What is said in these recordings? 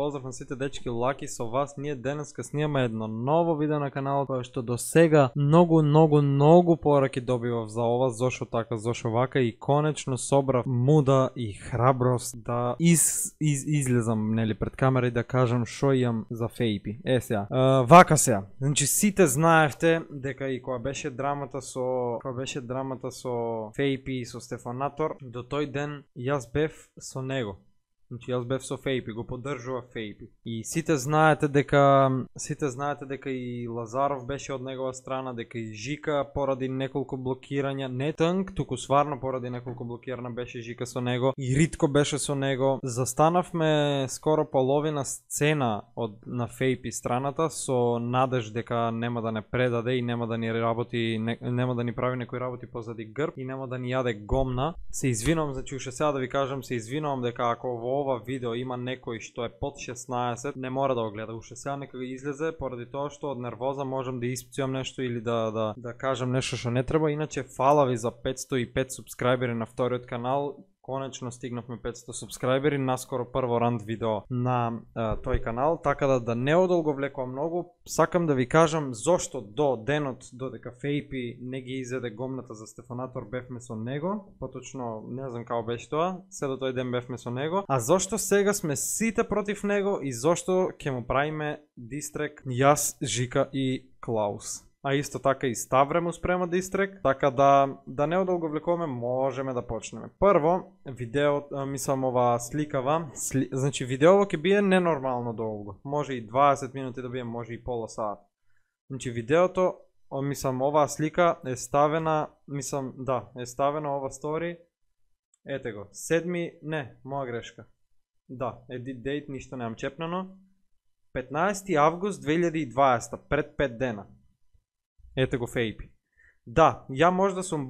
Поздрав на сите дечки, Лаки со вас. Ние денеска снимаме едно ново видео на каналот, кое што до сега многу пораки добивав за ова, зошо така, зошо вака, и конечно собрав муда и храброст да излезам нели пред камера и да кажам шо имам за фейпи. Сега, вака сега. Значи сите знаевте дека и кога беше драмата со фейпи и со Стефанатор, до тој ден јас бев со него. Значи јас бев со фейпи, го поддржував фейпи. И сите знаете дека и Лазаров беше од негова страна, дека и Жика поради неколку блокирања, не тънк, туку сварно поради неколку блокирања беше Жика со него, и Ритко беше со него. Застанавме скоро половина сцена на фейпи страната со надеж дека нема да не предаде и нема да ни работи, нема да ни прави некои работи позади грб и нема да ни јаде гомна. Се извинувам, значи уште сега да ви кажам, се извинувам дека ако во ова видео има некој што е под 16, не мора да го гледа. Уште сега нека излезе, поради тоа што од нервоза можам да испцујам нешто или да кажам нешто што не треба. Иначе фала ви за 505 субскрајбери на вториот канал. Конечно стигнавме 500 субскрајбери, наскоро прво ранд видео на тој канал, така да не одолговлекувам многу. Сакам да ви кажам зошто до денот додека фейпи не ги изеде гомната за Стефанатор бевме со него, поточно не знам како беше тоа, се до тој ден бевме со него, а зошто сега сме сите против него и зошто ќе му правиме дистрек јас, Жика и Клаус. А исто така и Ставре му спрема дистрек, така да не одолговлекуваме, можеме да почнеме. Прво, видео, мислам ова сликава, значи видеово ќе бие ненормално долго, може и 20 минути да бие, може и пола сат. Значи видеото, мислам оваа слика е ставена, е ставена ова стори, ете го, 7, не, моја грешка, да, edit date, ништо немам чепнано, 15 август 2020, пред 5 дена. Ете го фейпи. Да, ја може да сум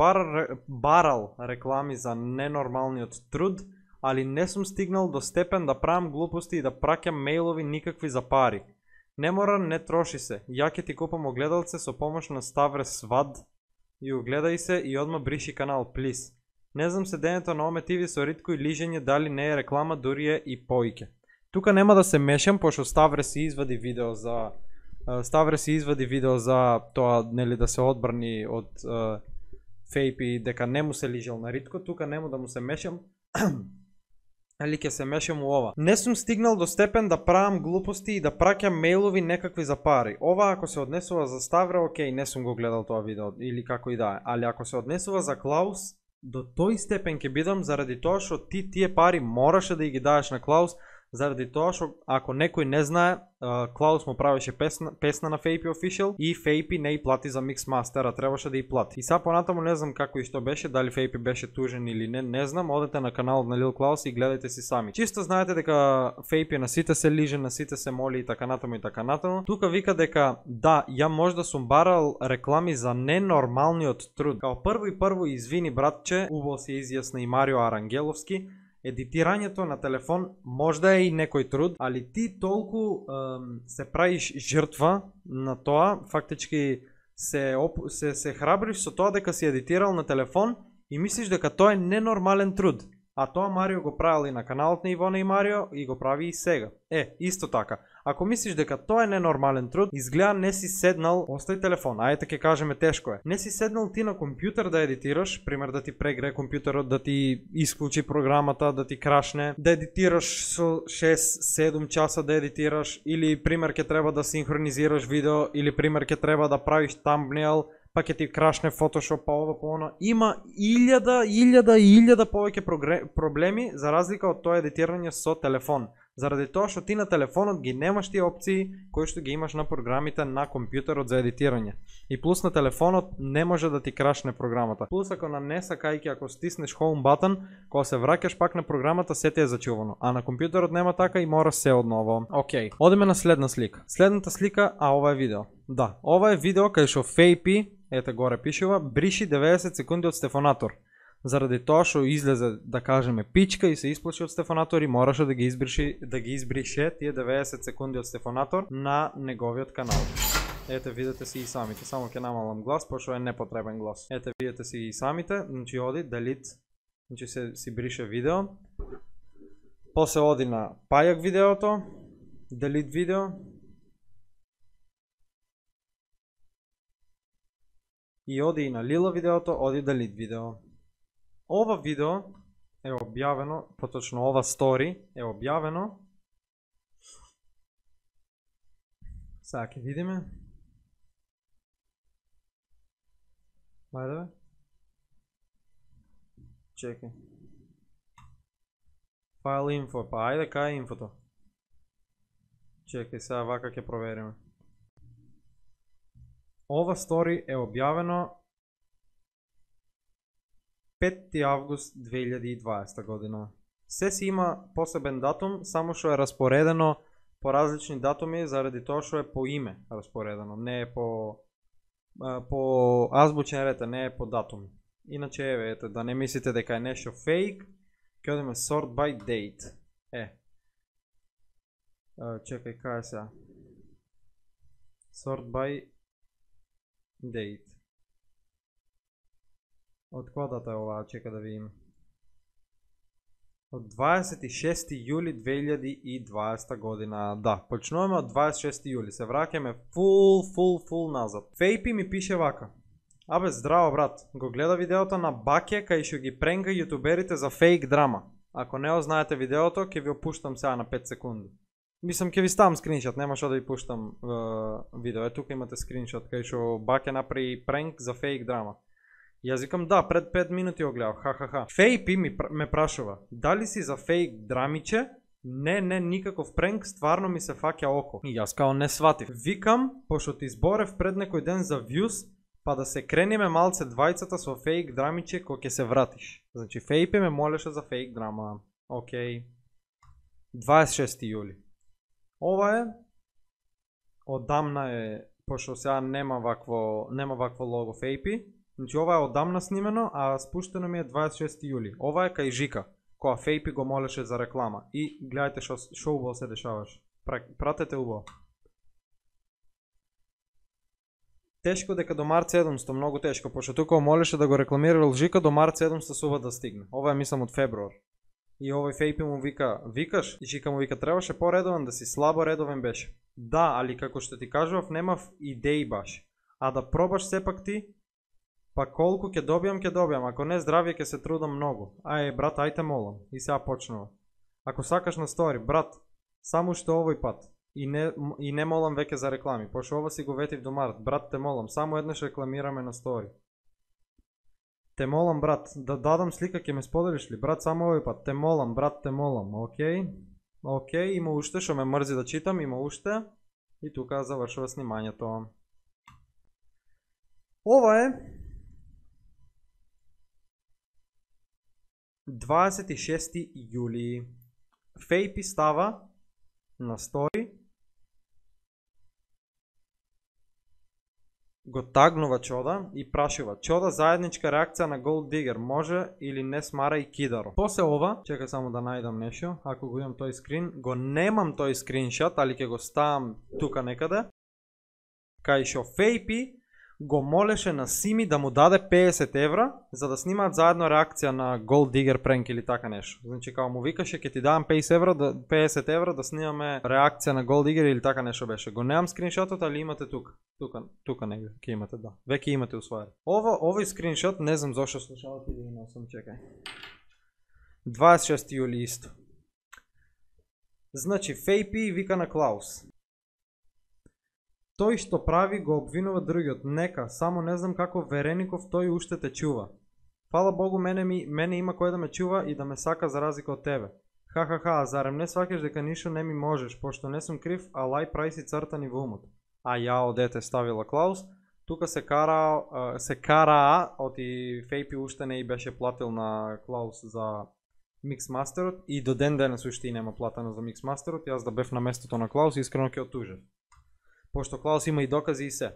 барал реклами за ненормалниот труд, али не сум стигнал до степен да правам глупости и да праќам мејлови никакви за пари. Не мора, не троши се. Ја ќе ти купам огледалце со помош на Ставре Свад и огледај се и одма бриши канал, плиз. Не знам седењето на Оме ТВ со Ритко и лижење дали не е реклама, дури е и поиќе. Тука нема да се мешам, пошто Ставре си извади видео за тоа, нели, да се одбрани од фейпи дека не му се лижел на Ритко. Тука нема да му се мешам, али ќе се мешам у ова. Не сум стигнал до степен да правам глупости и да праќам мејлови некакви за пари. Ова ако се однесува за Ставре, окей, не сум го гледал тоа видео или како и да е. Али ако се однесува за Клаус, до тој степен ќе бидам заради тоа што тие пари мораше да ги даеш на Клаус. Заради тоа што ако некој не знае, Клаус му правеше песна на Фейпи Official и Фейпи не и плати за Mixmaster, а требаше да и плати. И сега понатаму не знам како и што беше, дали Фейпи беше тужен или не знам, одете на каналот на Лил Клаус и гледајте си сами. Чисто знаете дека Фейпи на сите се лиже, на сите се моли и така натаму и така натаму. Тука вика дека да, ја може да сум барал реклами за ненормалниот труд. Као прво извини братче, убаво се изјасна и Марио Арангеловски. Едитирањето на телефон можда е и некој труд, али ти толку се правиш жртва на тоа, фактички се храбриш со тоа дека си едитирал на телефон и мислиш дека тоа е ненормален труд. А тоа Марио го правил и на каналот на Ивона и Марио и го прави и сега. Исто така. Ако мислиш дека тоа е ненормален труд, изгледа не си седнал, остави телефон, ајде ќе кажеме тешко е. Не си седнал ти на компјутер да едитираш, пример да ти прегре компјутерот, да ти исклучи програмата, да ти крашне, да едитираш со 6-7 часа да едитираш, или пример ќе треба да синхронизираш видео, или пример ќе треба да правиш тамбнейл, па ќе ти крашне Photoshop, па ова, па она. Има илјада повеќе проблеми за разлика од тоа едитирање со телефон. Заради тоа што ти на телефонот ги немаш тие опции кои што ги имаш на програмите на компјутерот за едитирање. И плюс на телефонот не може да ти крашне програмата. Плюс ако на не сакајќи, ако стиснеш home button, кога се враќаш пак на програмата, се ти е зачувано. А на компјутерот нема така и мора се одново. Окей, одеме на следна слика. Следната слика, ова е видео. Да, ова е видео кај што Фейпи, ете горе пишува, бриши 90 секунди од Стефанатор. Заради тоа што излезе, да кажеме, пичка и се исплаши од Стефанатор и мораше да ги избрише тие 90 секунди од Стефанатор на неговиот канал. Ете, видете си и самите, само ќе намалам глас, пошто е непотребен глас. Ете, видете си и самите, значи оди, delete, значи си брише видео. После оди на пајак видеото, delete видео. И оди и на лила видеото, оди delete видео. Ова видео е објавено, поточно ова стори е објавено. Сега ќе видиме. Ајде бе. Чекај. Файл инфо, па ајде кај е инфото. Чекај, сега вака ќе провериме. Ова стори е објавено 5 август 2020 година. Се си има посебен датум, само што е распоредено по различни датуми заради тоа што е по име распоредено, не е по азбучен ред, не е по датум. Иначе еве, ете, да не мислите дека е нешто фейк, ќе одиме sort by date. Чекај, кај е сега? Sort by date. Од која дата е оваа? Чека да видиме. Од 26 јули 2020 година. Да, почнуваме од 26 јули. Се враќаме фул назад. Фейпи ми пише вака. Абе, здраво брат. Го гледа видеото на Баке кај што ги пренга јутуберите за фейк драма. Ако не го знаете видеото, ќе ви опуштам сега на 5 секунди. Мислам, ќе ви ставам скриншот, нема што да ви пуштам видео. Тука имате скриншот кај што Баке направи пренк за фейк драма. Јас викам да, пред 5 минути го гледав, ха. Фейпи ме прашува, дали си за фейк драмиче? Не, никаков пренк, стварно ми се фаќа око. И јас као не сватив. Викам, пошто ти зборев пред некој ден за views, па да се крениме малце двајцата со фейк драмиче кој ќе се вратиш. Значи, Фейпи ме молеше за фейк драма. Океј. 26 јули. Ова е, одамна е, пошто сега нема вакво лого Фейпи. Значи ова е одамна снимено, а спуштено ми е 26 јули. Ова е кај Жика, која Фейпи го молеше за реклама. И гледајте шо убаво се дешаваш. Пратете убаво. Тешко дека до март 700, многу тешко, пошто тука молеше да го рекламирал Жика, до март 700 сува да стигне. Ова е мислам од февруар. И овој Фейпи му вика, викаш? И Жика му вика, требаше поредован да си, слабо редовен беше. Да, али како што ти кажував, немав идеи баш. А да пробаш сепак ти, па колку ќе добијам, ако не здравје ќе се трудам многу. Брат, ајте молам. И сега почнува. Ако сакаш на стори, брат, само што овој пат. И не молам веќе за реклами, пошто ова си го ветив до март. Брат, те молам, само еднаш рекламираме на стори. Те молам, брат, да дадам слика, ќе ме споделиш ли? Брат, само овој пат. Те молам, брат, те молам. Океј, има уште, што ме мрзи да читам, има уште. И тука завршува снимањето. Ова е 26 јули. Фейпи става на стори, го тагнува Чода и прашува: Чода, заедничка реакција на Gold Digger, може или не смара и Кидаро? После ова, чека само да најдам нешто, ако го имам тој скрин, го немам тој скриншот, али ќе го ставам тука некаде, кај што Фейпи го молеше на Сими да му даде 50 евра за да снимаат заедно реакција на Gold Digger prank или така нешто. Значи као му викаше ќе ти дадам 50 евра да снимаме реакција на Gold Digger или така нешто беше. Го немам скриншотот, али имате тука. Тука негде ќе имате, да. Веќе имате усвоено. Овој скриншот, не знам зошто слушалки да имам, чекај. 26 јули исто. Значи Фейпи вика на Клаус: тој што прави го обвинува другиот, нека, само не знам како Вереников тој уште те чува. Фала Богу, мене има кој да ме чува и да ме сака за разлика од тебе. Ха, зарем не сваќаш дека ништо не ми можеш, пошто не сум крив, а лај прави си цртани во умот. А јао дете, ставила Клаус. Тука се кара, оти Фейпи уште не и беше платил на Клаус за миксмастерот и до ден денес уште и нема платено за миксмастерот. Јас да бев на местото на Клаус, искрено ќе отужев. Пошто Клаус има и докази и се.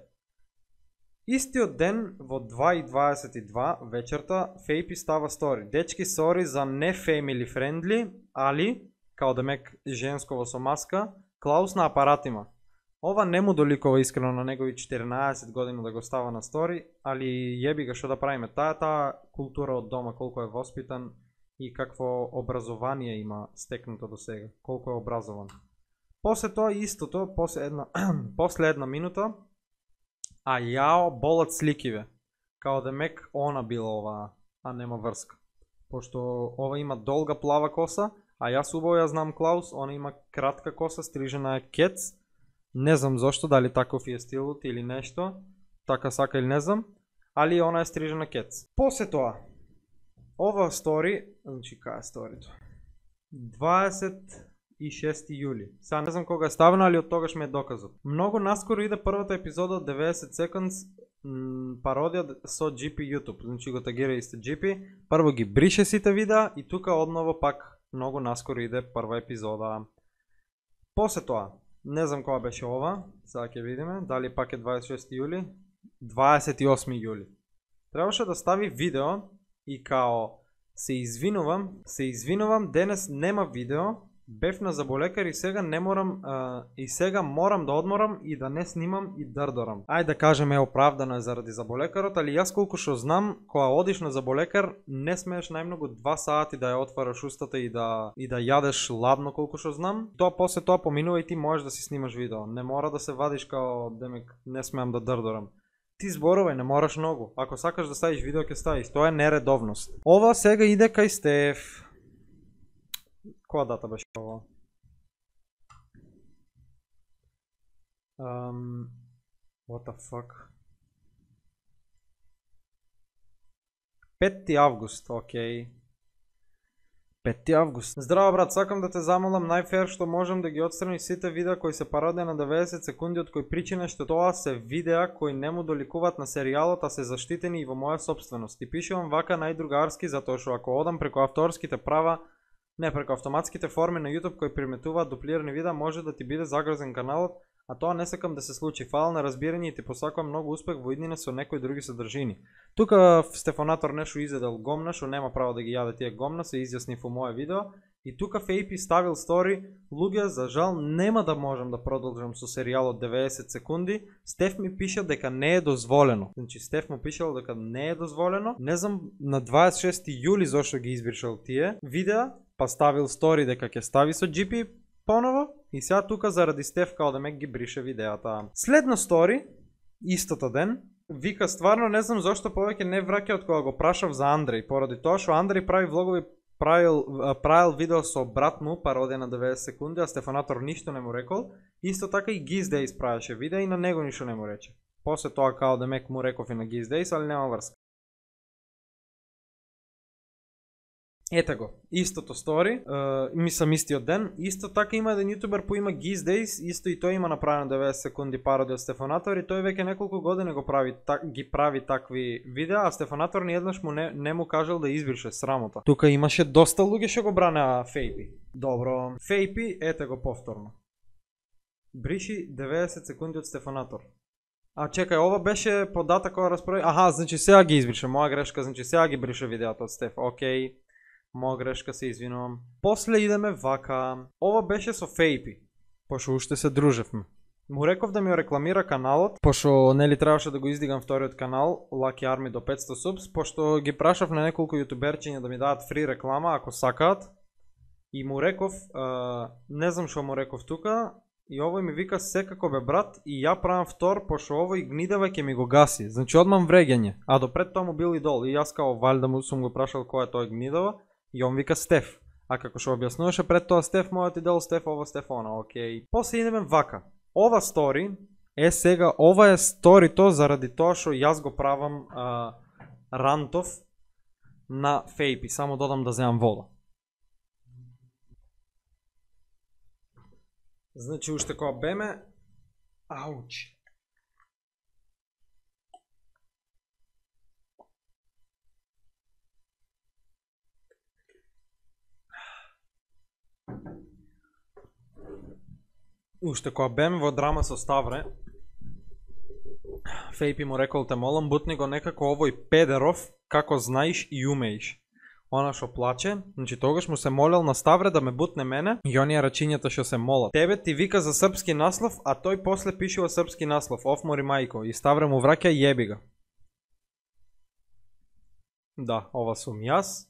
Истиот ден во 2:22 вечерта Фейпи става стори: дечки, сори за не family friendly, али, као демек женсково со маска, Клаус на апарат има. Ова не му доликува искрено на негови 14 години да го става на стори, али јеби ga што да правиме. Таа култура од дома, колку е воспитан и какво образование има стекнато до сега, колку е образован. После тоа истото, после една минута, а јао болат сликиве. Као да мек она била оваа, а нема врска. Пошто ова има долга плава коса, а јас убаво ја знам Клаус, она има кратка коса, стрижена е кец. Не знам зошто, дали таков е стилот или нешто, така сака или не знам, али она е стрижена кец. После тоа, ова стори, значи кај е сторито? 26 јули. Сега не знам кога е ставено, али од тогаш ме е доказот. Многу наскоро иде првата епизода од 90 Seconds, пародија со GP YouTube. Значи го тагира исте GP, прво ги брише сите видеа и тука одново пак многу наскоро иде прва епизода. После тоа, не знам кога беше ова, сега ќе видиме, дали пак е 26 јули, 28 јули. Требаше да стави видео и као се извинувам, денес нема видео, бев на заболекар и сега не морам и сега морам да одморам и да не снимам и дрдорам. Ајде да кажеме оправдано е заради заболекарот, али јас колку што знам, кога одиш на заболекар, не смееш најмногу 2 сати да ја отвараш устата и да јадеш ладно колку што знам. Тоа после тоа поминува и ти можеш да си снимаш видео. Не мора да се вадиш као демек не смеам да дрдорам. Ти зборувај, не мораш многу. Ако сакаш да ставиш видео, ќе ставиш. Тоа е нередовност. Ова сега иде кај Стеф. Која дата беше ова? What the fuck? 5 август, окей. 5 август. Здраво брат, сакам да те замолам најфер што можам да ги отстрани сите видеа кои се пародија на 90 секунди, од кој причина што тоа се видеа кои не му доликуваат на серијалот, а се заштитени и во моја собственост. И пишувам вака најдругарски затоа што ако одам преку авторските права, не преку автоматските форми на YouTube кои приметуваат дуплирани видеа, може да ти биде загрозен каналот, а тоа не сакам да се случи. Фала на разбирање и ти посакувам многу успех во иднина со некои други содржини. Тука Стефанатор нешто изедел гомна, што нема право да ги јаде тие гомна, се изјасни во моје видео. И тука Фейпи ставил стори, луѓе, за жал нема да можам да продолжам со серијалот 90 секунди. Стеф ми пиша дека не е дозволено. Значи Стеф му пишал дека не е дозволено. Не знам на 26 јули зошто ги избришал тие видеа, па ставил стори дека ќе стави со GP поново и сега тука заради Стеф као да ме ги брише видеата. Следно стори, истото ден, вика стварно не знам зошто повеќе не враќа од кога го прашав за Андреј, поради тоа што Андреј прави влогови, правил видео со брат му, пародија на 90 секунди, а Стефанатор ништо не му рекол. Исто така и Гиздејс правеше видео и на него ништо не му рече. После тоа као да мек му реков и на Гиздејс, али нема врска. Ете го, истото стори, мислам истиот ден. Исто така има еден јутубер по има Gizdays, исто и тој има направено 90 секунди пародија од Стефанатор и тој веќе неколку години ги прави такви видеа, а Стефанатор ниеднаш му не му кажал да избрише срамота. Тука имаше доста луѓе што го бранеа Фейпи. Добро, Фейпи, ете го повторно. Бриши 90 секунди од Стефанатор. А чекај, ова беше податак кога расправи. Аха, значи сега ги избрише, моја грешка, значи сега ги брише видеото од Стеф. Окей. Моја грешка, се извинувам. После идеме вака. Ова беше со Фейпи, пошто уште се дружевме. Му реков да ми рекламира каналот, пошто нели требаше да го издигам вториот канал, Lucky Army до 500 subs, пошто ги прашав на неколку јутуберчиња да ми дадат фри реклама ако сакаат. И му реков, не знам што му реков тука, и овој ми вика секако бе брат и ја правам втор, пошто овој гнидава ќе ми го гаси. Значи одмам вреѓање, а допред тоа му бил идол и јас као валјда му сум го прашал кој е тој гнидава. И он вика Стеф. А како што објаснуваше пред тоа Стеф, мојот идол Стеф, ова Стеф, она, окей. После идеме вака. Ова стори е сега, ова е сторито заради тоа што јас го правам рантов на Фейпи. Само додам да земам вода. Значи уште кога беме... Ауч. Уште кога бем во драма со Ставре, Фейпи му рекол те молам, бутни го некако овој педеров, како знаеш и умееш. Она што плаче, значи тогаш му се молел на Ставре да ме бутне мене и оние рачињата што се молат. Тебе ти вика за српски наслов, а тој после пишува српски наслов, офмори мајко, и Ставре му враќа јеби га. Да, ова сум јас.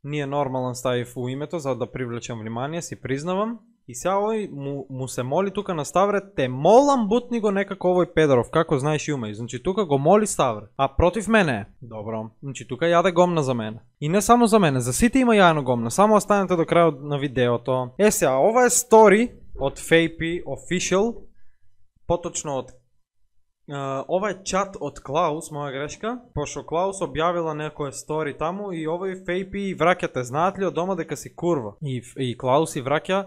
Ние нормален ставив у името за да привлечам внимание, си признавам. И сега овој му се моли тука на Ставре, те молам бутни го некако овој педоров, како знаеш и умеј. Значи тука го моли Ставре, а против мене е. Добро, значи тука јаде гомна за мене. И не само за мене, за сите има јајно гомна, само останете до крајот на видеото. Сега, ова е стори од FaPy Official, поточно од ова е чат од Клаус, моја грешка, пошто Клаус објавила некој стори таму и овој FaPy враќате, знаат ли од дома дека си курва? И Клаус и враќа,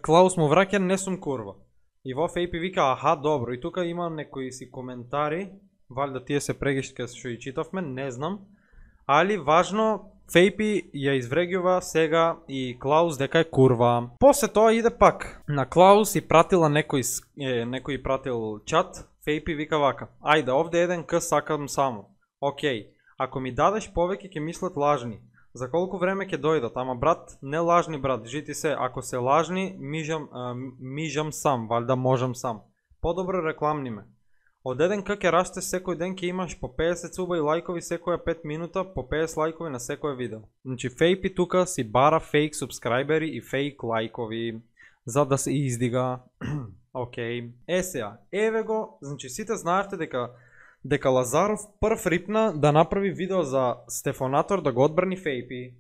Клаус му враќа, не сум курва. И во FaPy вика, аха, добро, и тука има некои си коментари, валјда тие се прегишка што и читавме, не знам, али важно, FaPy ја изврегјува сега и Клаус дека е курва. После тоа иде пак, на Клаус и пратила некој пратил чат, FaPy вика вака, ајде, овде еден К сакам само. Океј, ако ми дадеш повеќе ќе мислат лажни. За колку време ќе дојдат, ама брат, не лажни брат, жити се, ако се лажни, мижам сам, валјда можам сам. Подобро рекламни ме. Од еден К ќе растеш секој ден, ќе имаш по 50 цуба и лајкови секоја 5 минута, по 50 лајкови на секој видео. Значи FaPy тука си бара фейк субскрајбери и фейк лајкови, за да се издига. Океј. Сега, еве го, значи сите знаевте дека Лазаров прв рипна да направи видео за Стефонатор да го одбрани FaPy.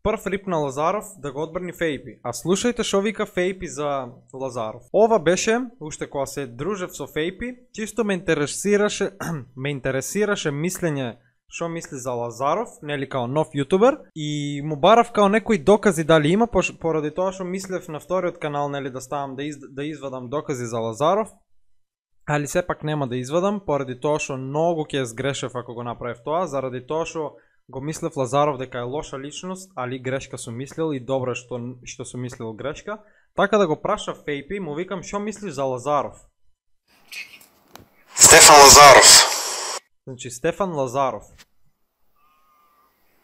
Прв рипна Лазаров да го одбрани FaPy. А слушајте шо вика FaPy за Лазаров. Ова беше, уште кога се дружев со FaPy, чисто ме интересираше мислење шо мисли за Лазаров, нели као нов јутубер, и му барав као некои докази дали има, поради тоа што мислев на вториот канал, нели да ставам да извадам докази за Лазаров, али сепак нема да извадам, поради тоа што многу ќе сгрешев ако го направив тоа, заради тоа што го мислев Лазаров дека е лоша личност, али грешка сум мислил и добро што сум мислил грешка, така да го праша FaPy, му викам шо мислиш за Лазаров? Стефан Лазаров. Значи Стефан Лазаров.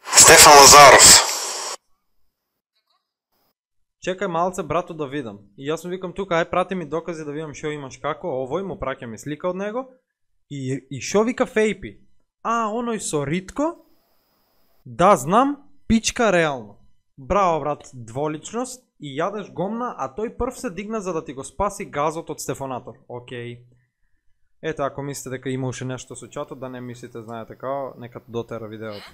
Стефан Лазаров. Чекај малце брато да видам. И јас му викам тука, ај прати ми докази да видам шо имаш како, овој му праќа ми слика од него. И шо вика FaPy? А, оној со Ритко? Да, знам, пичка реално. Браво брат, дволичност и јадеш гомна, а тој прв се дигна за да ти го спаси газот од Стефонатор. Океј. Ето, ако мислите дека има уште нешто со чатот, да не мислите, знаете као, нека дотера видеото.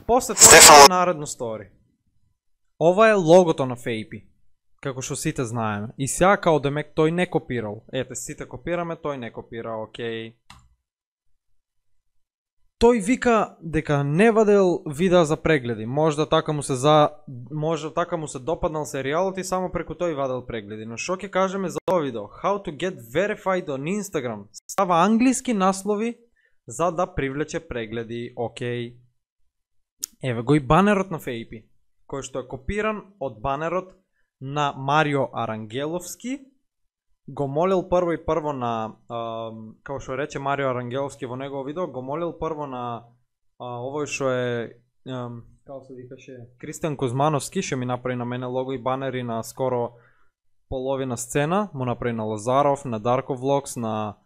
После тоа наредно стори. Ова е логото на FaPy, како што сите знаеме. И сега као демек тој не копирал. Ете, сите копираме, тој не копира, океј. Тој вика дека не вадел видеа за прегледи. Можда така му се допаднал серијалот и само преку тој вадел прегледи. Но шо ќе кажеме за ова видео? How to get verified on Instagram. Става англиски наслови за да привлече прегледи. Океј. Еве го и банерот на FaPy, кој што е копиран од банерот на Марио Арангеловски. Го молил прво на, како што рече Марио Арангеловски во негово видео, го молил прво на овој што е, како се викаше, Кристијан Кузмановски, што ми направи на мене лого и банери на скоро половина сцена, му направи на Лазаров, на Дарко Влогс, на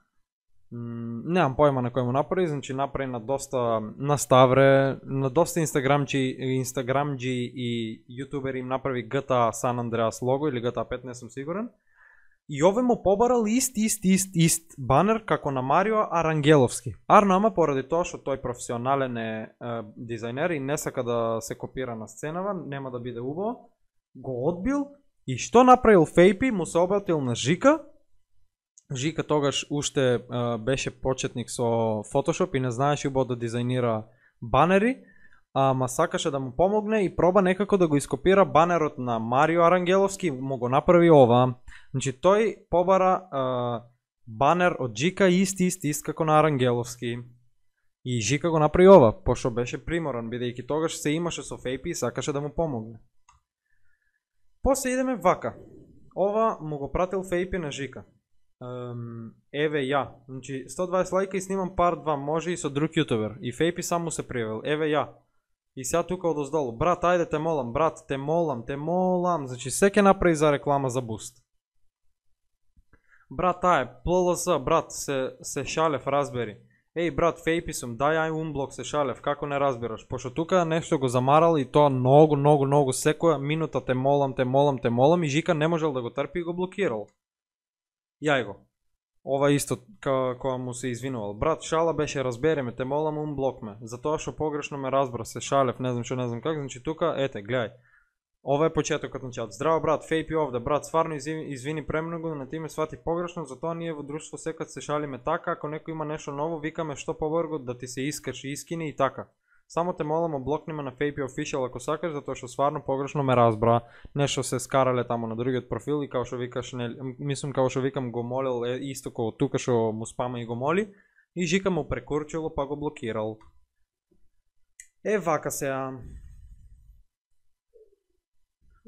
немам појма на кој му направи, значи направи на доста, на Ставре, на доста инстаграмџи и јутубери им направи GTA San Andreas лого или GTA 5, не сум сигурен. И овој му побарал ист банер како на Марио Арангеловски. Арно, ама поради тоа што тој професионален е дизајнер и не сака да се копира на сценава, нема да биде убаво, го одбил и што направил FaPy, му се обратил на Жика. Жика тогаш уште беше почетник со Photoshop и не знаеше убаво да дизајнира банери, ама сакаше да му помогне и проба некако да го ископира банерот на Марио Арангеловски, му го направи ова. Значи тој побара банер од Жика ист како на Арангеловски. И Жика го направи ова, пошто беше приморан, бидејќи тогаш се имаше со FaPy и сакаше да му помогне. После идеме вака. Ова му го пратил FaPy на Жика. Еве ја, значи 120 лајка и снимам part 2, може и со друг јутубер. И FaPy само се привел, еве ја. И сега тука одоздолу, брат, ајде те молам, брат, те молам, значи се ќе направи за реклама за Boost. Брат, ај, ПЛС, брат, се шалев, разбери. Еј брат, фейпи сум, дај ај унблок се шалев, како не разбираш? Пошто тука нешто го замарал и тоа многу секоја минута те молам и Жика не можел да го трпи и го блокирал. Јај го. Ова исто кога му се извинувал. Брат, шала беше, разбери ме, те молам унблок ме. Затоа што погрешно ме разбра, се шалев, не знам как, значи тука, ете, гледај. Ова е почетокот на чат. Здраво брат, фейпи овде, брат, стварно извини премногу, на ти ме свати погрешно, затоа ние во друштво секад се шалиме така, ако некој има нешто ново, викаме што побрго да ти се искаш и искини и така. Само те молам облокни ме на Фейпи Official ако сакаш, затоа што стварно погрешно ме разбра. Нешто се скарале таму на другиот профил и као што викаш, мислам као што викам го молил исто како тука што му спама и го моли и Жика му прекурчило па го блокирал. Вака сега.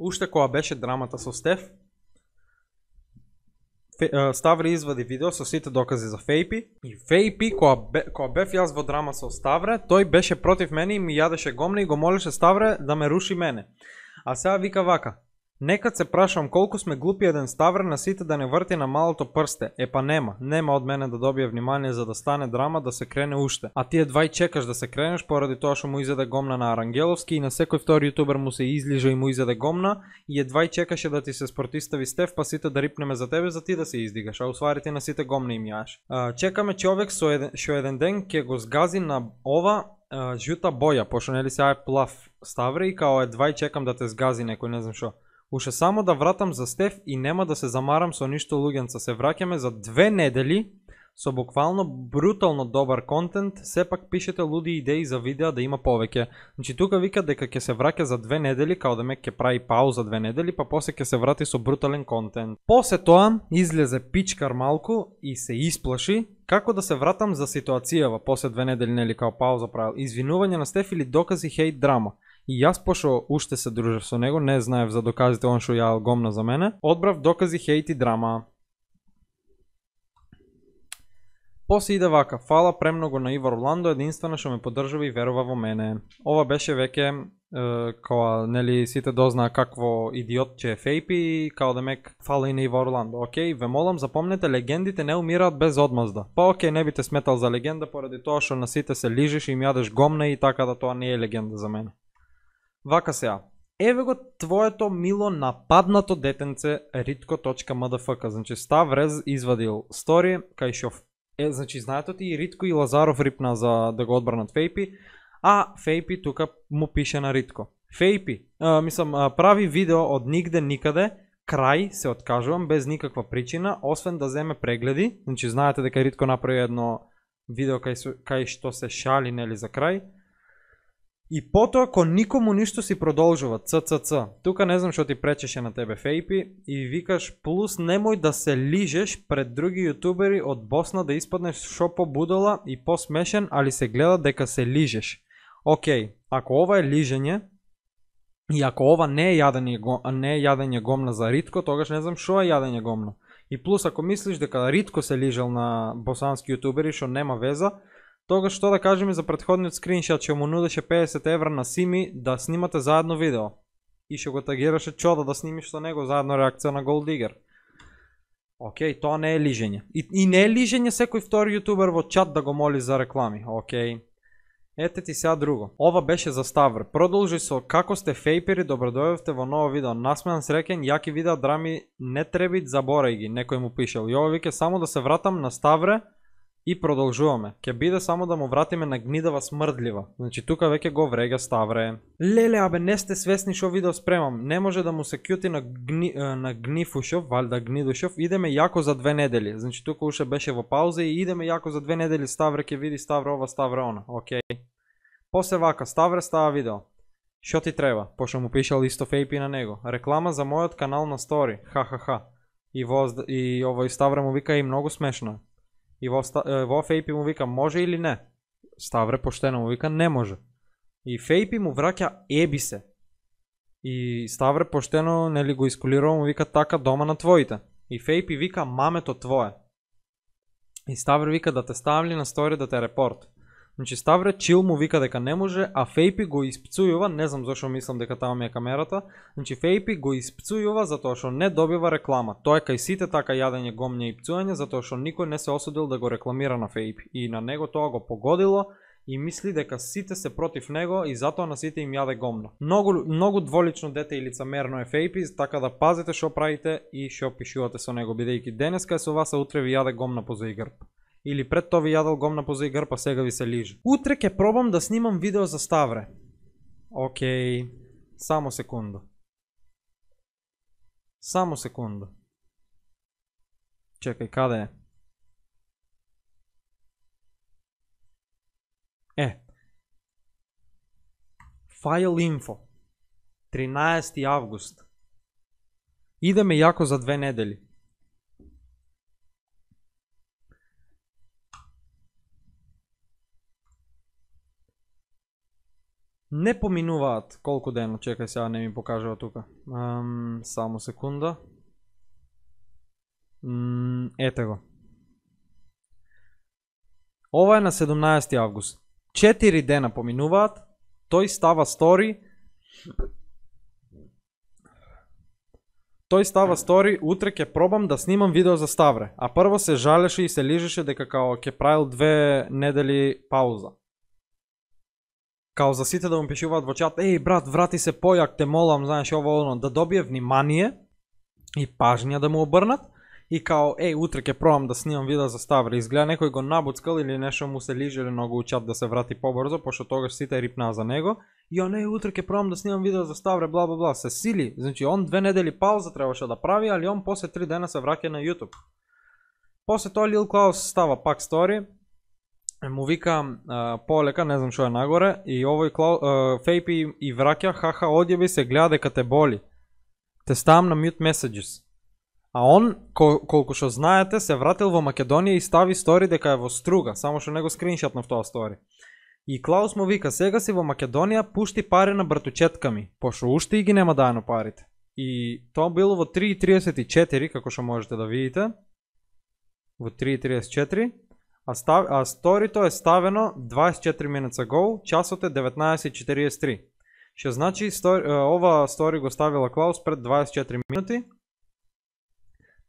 Уште кога беше драмата со Стеф, Ставре извади видео со сите докази за Фейпи и Фейпи кога бев јас во драма со Ставре, тој беше против мене и ми јадеше гомна и го молеше Ставре да ме руши мене. А сега вика вака: некад се прашам колку сме глупи еден Ставре на сите да не врти на малото прсте. Па нема од мене да добие внимание за да стане драма да се крене уште. А ти едва и чекаш да се кренеш поради тоа што му изеде гомна на Арангеловски и на секој втори јутубер му се излижа и му изеде гомна и едва и чекаше да ти се спротистави Стеф па сите да рипнеме за тебе за ти да се издигаш, а усвари ти на сите гомна им јаш. Чекаме човек што еден ден ќе го згази на ова жута боја, пошто нели сега е плав Ставре и као едва и чекам да те згази некој, не знам шо. Уште само да вратам за Стеф и нема да се замарам со ништо луѓенца. Се враќаме за 2 недели со буквално брутално добар контент. Сепак пишете луди идеи за видеа да има повеќе. Значи тука вика дека ќе се враќа за 2 недели, као да ме ќе прави пауза 2 недели, па после ќе се врати со брутален контент. После тоа излезе пичкар малку и се исплаши како да се вратам за ситуацијава после 2 недели, нели као пауза правил. Извинување на Стеф или докази хейт драма. И јас пошо уште се дружев со него, не знаев за доказите он што ја гомна за мене, одбрав докази хейт и драма. После иде вака: фала премногу на Ивор Орландо, единствено што ме поддржува и верува во мене. Ова беше веќе кога нели сите дознаа какво идиот че е Фейпи и као да мек фала и на Ивор Орландо. Океј, ве молам запомнете, легендите не умираат без одмазда. Па океј, не би те сметал за легенда поради тоа што на сите се лижиш и им јадеш гомна и така да тоа не е легенда за мене. Вака сега, еве го твоето мило нападнато детенце ritko.mdfk. Значи Ставрез извадил стори кај што значи знаете ти и Ритко и Лазаров рипна за да го одбранат Фейпи, а Фейпи тука му пише на Ритко. Фейпи, прави видео од нигде никаде, крај се откажувам без никаква причина, освен да земе прегледи. Значи знаете дека Ритко направи едно видео кај што се шали нели за крај. И потоа кон никому ништо си продолжува, ццц. Тука не знам што ти пречеше на тебе Фейпи и викаш плюс немој да се лижеш пред други јутубери од Босна да испаднеш шо побудала и посмешен, али се гледа дека се лижеш. Океј, ако ова е лижење и ако ова не е јадење гомна за Ритко, тогаш не знам шо е јадење гомна. И плюс ако мислиш дека Ритко се лижал на босански јутубери што нема веза, тогаш што да кажеме за претходниот скриншот што му нудеше 50 евра на Сими да снимате заедно видео и што го тагираше Чода да снимиш со него заедно реакција на Gold Digger. Океј, тоа не е лижење. И не е лижење секој втори јутубер во чат да го моли за реклами. Океј. Ете ти сега друго. Ова беше за Ставре. Продолжи со како сте фейпери, добродојавте во ново видео. Насмеан, среќен, јаки видеа драми, не требит, заборај ги, некој му пишел. И ова вике само да се вратам на Ставре и продолжуваме. Ке биде само да му вратиме на гнидава смрдлива. Значи тука веќе го врега Ставре. Леле, абе не сте свесни шо видео спремам. Не може да му се кјути на Гнифушов, валда Гнидушов. Идеме јако за 2 недели. Значи тука уште беше во пауза и идеме јако за 2 недели. Ставре ке види Ставре ова, Ставре она. Океј. После вака, Ставре става видео. Шо ти треба? Пошто му пишал исто Фейпи на него. Реклама за мојот канал на стори. Ха-ха-ха. И овој Ставре му вика и многу смешно. И во Фейпи му вика може или не. Ставре поштено му вика не може. И Фейпи му враќа еби се. И Ставре поштено нели го искулирува му вика така дома на твоите. И Фейпи вика мамето твое. И Ставре вика да те ставли на стори да те репорт. Значи Ставре чил му вика дека не може, а Фейпи го испцујува, не знам зашо мислам дека таму ми е камерата. Значи Фейпи го испцујува затоа што не добива реклама. Тоа е кај сите така јадење, гомње и пцуење, затоа што никој не се осудил да го рекламира на Фейпи. И на него тоа го погодило и мисли дека сите се против него и затоа на сите им јаде гомно. Многу дволично дете и лицемерно е Фейпи, така да пазите што правите и што пишувате со него, бидејќи денеска е со вас, а утре ви јаде гомна позај грб. Или пред тоа ви јадел гомна позај грб, а сега ви се лиже. Утре ќе пробам да снимам видео за Ставре. Океј, само секунда. Само секунда. Чекај, каде е? Файл инфо. 13 август. Идеме јако за 2 недели. Не поминуваат колку дена, чекај сега не ми покажува тука. Само секунда. Ете го. Ова е на 17 август. 4 дена поминуваат, тој става стори. Утре ќе пробам да снимам видео за Ставре. А прво се жалеше и се лижеше дека као ќе правил 2 недели пауза. Као за сите да му пишуваат во чат, еј брат, врати се појак, те молам, знаеш ово оно, да добие внимание и пажња да му обрнат. И као, утре ќе пробам да снимам видео за Ставре. Изгледа некој го набуцкал или нешто му се лижеле многу у чат да се врати побрзо, пошто тогаш сите рипнаа за него. И он, утре ќе пробам да снимам видео за Ставре, бла бла бла, се сили. Значи он 2 недели пауза требаше да прави, али он после 3 дена се враќа на YouTube. После тоа Lil Klaus става пак стори. Му вика полека, не знам што е нагоре, и овој Фейпи и враќа, хаха, одјави се, гледа дека те боли. Те ставам на mute messages. А он, колку што знаете, се вратил во Македонија и стави стори дека е во Струга, само што него скриншотнав тоа стори. И Клаус му вика, сега си во Македонија, пушти пари на братучетка ми, пошто уште и ги нема дајано парите. И тоа било во 3:34, како што можете да видите. Во 3:34. А сторито е ставено 24 minutes ago, часот е 19:43. Што значи ова стори го ставила Клаус пред 24 минути.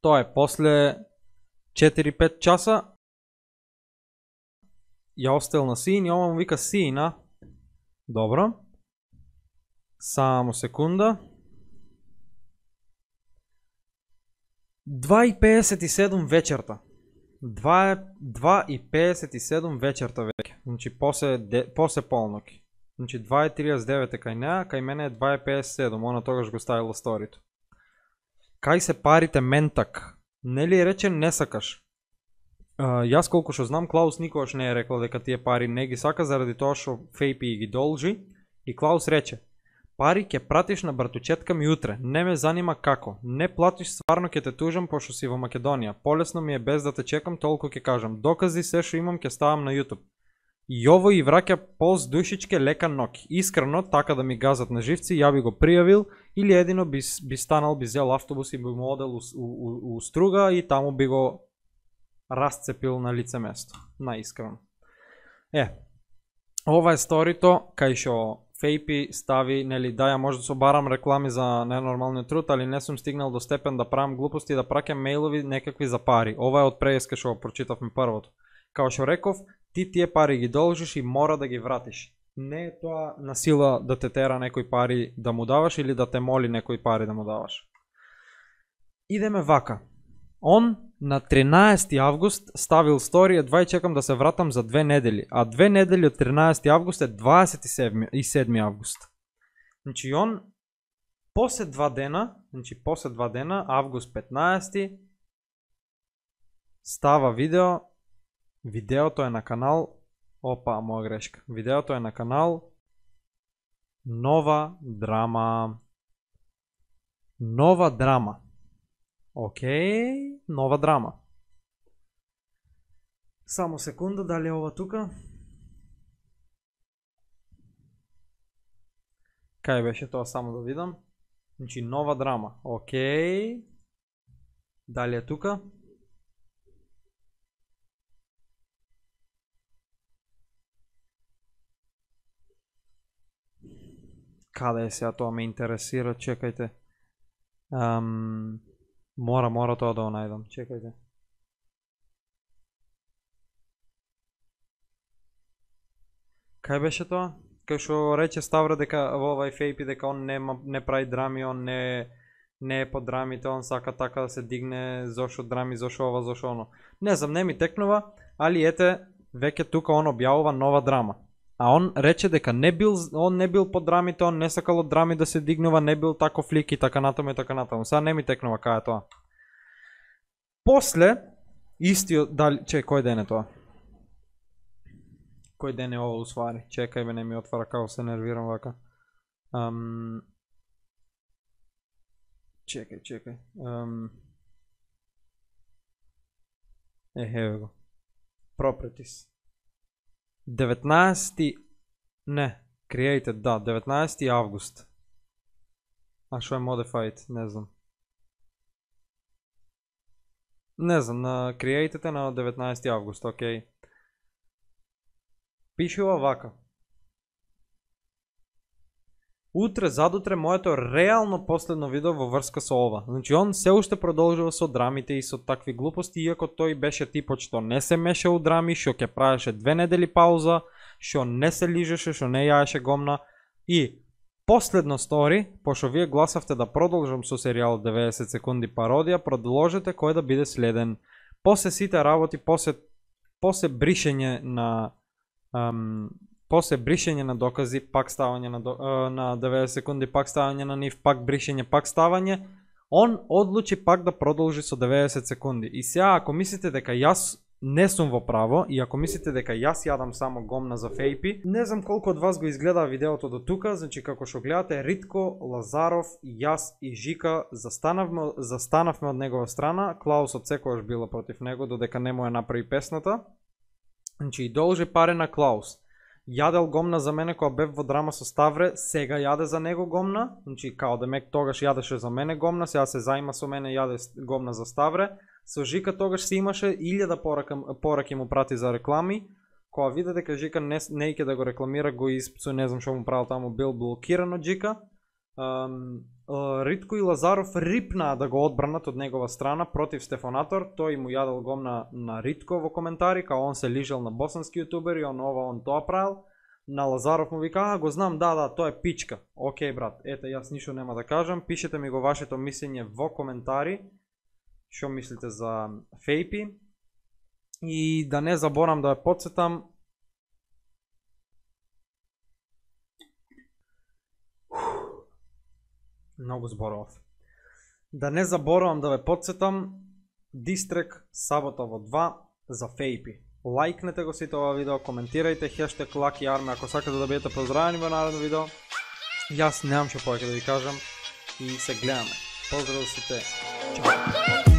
Тоа е после 4-5 часа. Ја оставил на син и ова му вика сина. Добро. Само секунда. 2:57 вечерта. 2:57 вечерта веќе. Значи после полноки. Значи 2:39 е кај неа, кај мене е 2:57, она тогаш го ставила сторито. Кај се парите ментак? Нели рече не сакаш? Јас колку што знам, Клаус никогаш не е рекла дека тие пари не ги сака заради тоа што Фейпи ги должи. И Клаус рече, пари ќе пратиш на братучетка ми утре, не ме занима како. Не платиш, стварно ќе те тужам пошто си во Македонија. Полесно ми е без да те чекам, толку ќе кажам. Докази се што имам ќе ставам на YouTube. И ово и враќа пост душичке лека ноки. Искрено, така да ми газат на живци, ја би го пријавил или едино би станал, би зел автобус и би му одел у Струга и таму би го расцепил на лице место. Наискрено. Ова е сторито кај што Фейпи стави, нели, да ја може да собарам реклами за ненормалниот труд, али не сум стигнал до степен да правам глупости и да праќам мејлови некакви за пари. Ова е од преска што прочитавме првото. Као што реков, ти тие пари ги должиш и мора да ги вратиш. Не е тоа на сила да те тера некој пари да му даваш или да те моли некој пари да му даваш. Идеме вака. Он на 13 август ставил стори, едва и чекам да се вратам за 2 недели. А 2 недели од 13 август е 27 август. Значи он после 2 дена, август 15, става видео. Видеото е на канал, моја грешка. Видеото е на канал Нова драма. Нова драма. Океј, нова драма. Само секунда, дали е ова тука? Кај беше тоа, само да видам. Значи, нова драма. Океј. Дали е тука? Каде е сега тоа ме интересира, чекајте. Мора тоа да го најдам, чекајте. Кај беше тоа? Кај што рече Ставра дека во овај Фейпи дека он не прави драми, он не е по драмите, он сака така да се дигне, зошо драми, зошо ова, зошо оно. Не знам, не ми текнува, али ете, веќе тука он објавува нова драма. А он рече дека он не бил по драмите, он не сакал од драми да се дигнува, не бил таков лик и така натаму и така натаму. Сега не ми текнува кај е тоа. После, истиот, дали, кој ден е тоа? Кој ден е ова усвари? Чекај бе, не ми отвара, како се нервирам вака. Чекај. Еве го. Properties. 19 Created, да, 19 август. А што е Modified, не знам. Не знам, на Created е на 19 август, окей. Пишува вака. Утре, задутре, моето реално последно видео во врска со ова. Значи, он се уште продолжува со драмите и со такви глупости, иако тој беше типот што не се меша у драми, што ќе правеше 2 недели пауза, што не се лижеше, што не јаеше гомна. И последно стори, пошто вие гласавте да продолжам со серијал 90 секунди пародија, продолжете кој да биде следен. После сите работи, после бришење на после бришење на докази, пак ставање на 90 секунди, пак ставање на нив, пак бришење, пак ставање, он одлучи пак да продолжи со 90 секунди. И сега, ако мислите дека јас не сум во право, и ако мислите дека јас јадам само гомна за Фейпи, не знам колку од вас го изгледа видеото до тука, значи како што гледате, Ритко, Лазаров, јас и Жика застанавме од негова страна, Клаус од секојаш била против него, додека не му ја направи песната. Значи, должи паре на Клаус. Јадел гомна за мене кога бев во драма со Ставре, сега јаде за него гомна, значи као демек тогаш јадеше за мене гомна, сега се заима со мене јаде гомна за Ставре. Со Жика тогаш се имаше 1000 пораки му прати за реклами, кога виде дека Жика не иќе да го рекламира, го испцу, не знам што му правил таму, бил блокиран од Жика. Ритко и Лазаров рипнаа да го одбранат од негова страна против Стефанатор, тој му јадел гомна на Ритко во коментари, као он се лижел на босански јутубери, он тоа правил. На Лазаров му вика, го знам, да, тоа е пичка. Океј брат, ете, јас ништо нема да кажам, пишете ми го вашето мислење во коментари, што мислите за Фейпи. И да не заборам да ја потсетам, многу зборов. Да не заборавам да ве потсетам, дистрек сабота во 2 за Фейпи. Лајкнете го сите ова видео, коментирајте, хештег Lucky Army ако сакате да бидете поздравени во наредно видео. Јас немам што повеќе да ви кажам и се гледаме. Поздрав сите. Чао.